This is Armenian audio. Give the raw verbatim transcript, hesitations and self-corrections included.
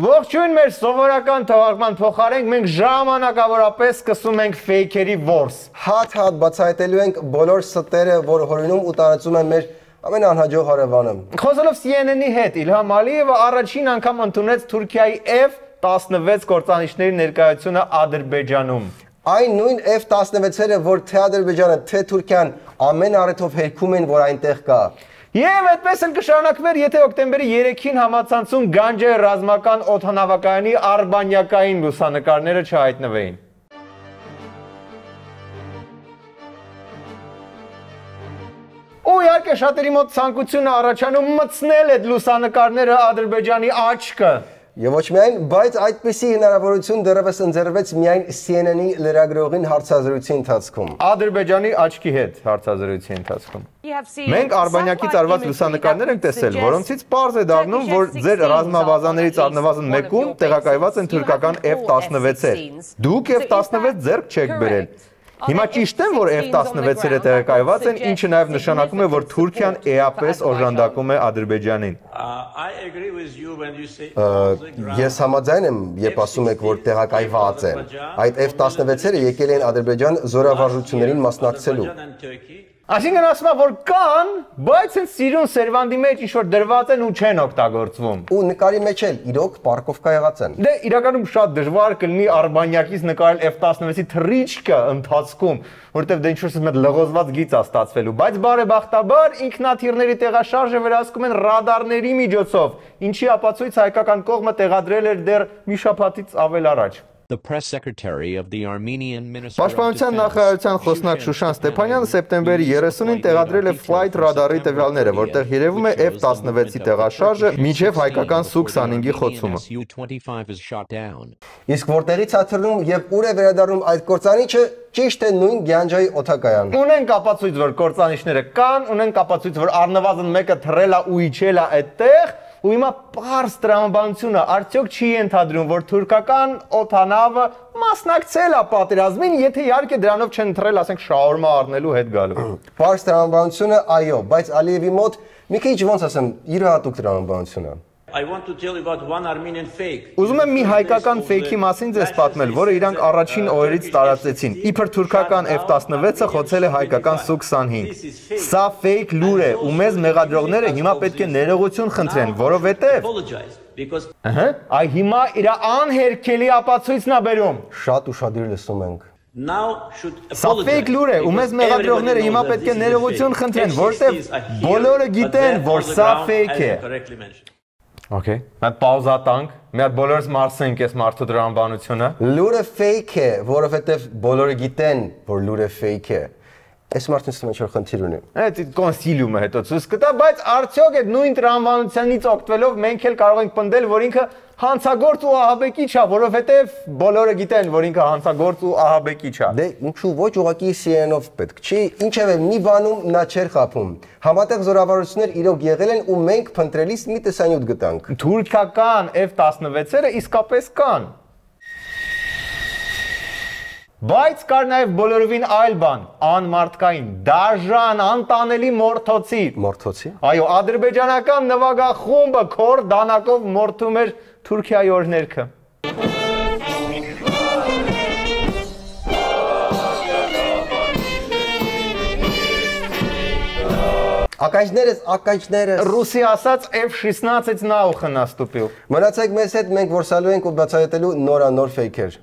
Ողջույն մեր սովորական թողարկման փոխարենք մենք ժամանակավորապես սկսում ենք ֆեյքերի որս։ Հատ-հատ բացահայտելու ենք բոլոր ստերը, որ հորինում ու տարածում են մեր ամենանհաջող հարևանը։ Խոսելով C N N-ի հետ, Իլհամ Ալիևը առաջին անգամ ընդունեց Թուրքիայի F տասնվեց կործանիչների ներկայությունը Ադրբեջանում։ Այն նույն F տասնվեցերը, որ թե Ադրբեջանը, թե Թուրքիան ամեն առիթով հերքում են, որ այնտեղ կա։ Եվ այդպես էլ կշարունակվեր, եթե օկտեմբերի երեքին համացանցում Գանջե ռազմական օդանավակայանի արբանյակային լուսանկարները չհայտնվեին։ Ու իհարկե շատերի մոտ ցանկությունը առաջանում մտցնել այդ լուսանկարները Ադրբեջանի աչքը։ Եվ ոչ միայն, բայց այդպիսի հնարավորություն դեռևս ընձեռվեց միայն C N N-ի լրագրողին հարցազրույցի ընթացքում։ Ադրբեջանի աչքի հետ հարցազրույցի ընթացքում։ Մենք արբանյակից արված լուսանկարներ ենք տեսել, որոնցից պարզ է դառնում, որ ձեր ռազմավազաներից առնվազն մեկում տեղակայված են թուրքական F տասնվեցեր։ Դուք F տասնվեց ձեռք չեք բերել։ Հիմա ճիշտ եմ, որ F տասնվեցերը տեղակայված են, ինչը նաև նշանակում է, որ Թուրքիան էապես օժանդակում է Ադրբեջանին։ Ես համաձայն եմ, երբ ասում եք, որ տեղակայված են։ Այդ F տասնվեցերը եկել են Ադրբեջան զորավարժություններին մասնակցելու։ Այսինքն ասում է, որ կան, բայց են սիրուն սերվանդի մեջ ինչ-որ դրված են ու չեն օգտագործվում։ Ու նկարի մեջ էլ իրոք պարկովկա եղած են։ Դե իրականում շատ դժվար կլինի արբանյակից նկարել F տասնվեցի թռիչքը ընթացքում, որովհետև դե ինչ-որ մեծ լղոզված գիծ է ստացվելու, բայց բարեբախտաբար ինքնաթիռների տեղաշարժը վերահսկում են ռադարների միջոցով, ինչի ապացույց հայկական կողմը տեղադրել էր դեռ մի շաբաթից ավել առաջ։ The press secretary of the Armenian Ministry Պաշտպանության նախարարության խոսնակ Շուշան Ստեփանյանը սեպտեմբերի երեսունին տեղադրել է Flight Radar-ի տվյալները, որտեղ երևում է F տասնվեցի տեղաշարժը մինչև հայկական Su քսանհինգի խոցումը։ Իսկ որտեղից է թռնում եւ ուր է վերադառնում այդ կործանիչը, ճիշտ է նույն Գանջայի օդակայան։ Ունենք ապացույց, որ կործանիչները կան, ունենք ապացույց, որ առնվազն մեկը թռել է ու իջել է այդտեղ։ Ու հիմա պարզ տրամաբանությունը արդյոք չի ենթադրում, որ թուրքական օդանավը մասնակցել է պատերազմին, եթե իհարկե դրանով չեն թռել, ասենք, շաուրմա առնելու հետ գալու։ Պարզ տրամաբանությունը այո, բայց Ալիևի մոտ մի քիչ ոնց ասեմ, յուրահատուկ տրամաբանություն է։ I want to tell you about one Armenian fake. Ուզում եմ մի հայկական ֆեյքի մասին ձեզ պատմել, որը իրանք առաջին օրերից տարածեցին։ Իբր թուրքական F տասնվեցը խոցել է հայկական Su քսանհինգ։ Սա ֆեյք լուր է, ու մեզ մեղադրողները հիմա պետք է ներողություն խնդրեն, որովհետև Ահա, այ հիմա իր անհերքելի ապացույցն է բերում։ Շատ ուշադիր լսում ենք։ Սա ֆեյք լուր է, ու մեզ մեղադրողները հիմա պետք է ներողություն խնդրեն, որովհետև բոլորը գիտեն, որ սա ֆեյք է։ Okay, մենք պաուզա տանք, մի հատ բոլորս մարսենք այս մարդու տրամաբանությունը։ Լուրը fake է, որովհետև բոլորը գիտեն, որ լուրը fake է։ Այս մարդուն ստում ինչ-որ խնդիր ունի։ Այդ կոնսիլիումը հետո ցույց կտա, բայց արդյոք այդ նույն տրամաբանությունից օգտվելով մենք էլ կարող ենք պնդել, որ ինքը հանցագործ ու ահաբեկիչ է, որովհետև բոլորը գիտեն, որ ինքը հանցագործ ու ահաբեկիչ է։ Դե ինչու ոչ ուղղակի C N N-ով պետք չի, ինչևէ մի բանում նա չէր խափում։ Համատեղ զորավարություններ իրոք եղել են ու մենք փնտրելիս մի տեսանյութ գտանք։ Թուրքական F տասնվեցերը իսկապես կան։ Բայց կար նաև բոլորովին այլ բան, անմարդկային, դաժան, անտանելի մորթոցի։ Մորթոցի։ Այո, ադրբեջանական նվագախումբը քոր դանակով մորթում էր Թուրքիայի օրհներգը։ Ականջներս, ականջներս։ Ռուսի ասած F շեսնадцать նաուխը նաստուպիլ։ Մնացեք մեզ հետ, մենք որսալու ենք ու բացահայտելու նորանոր ֆեյքեր։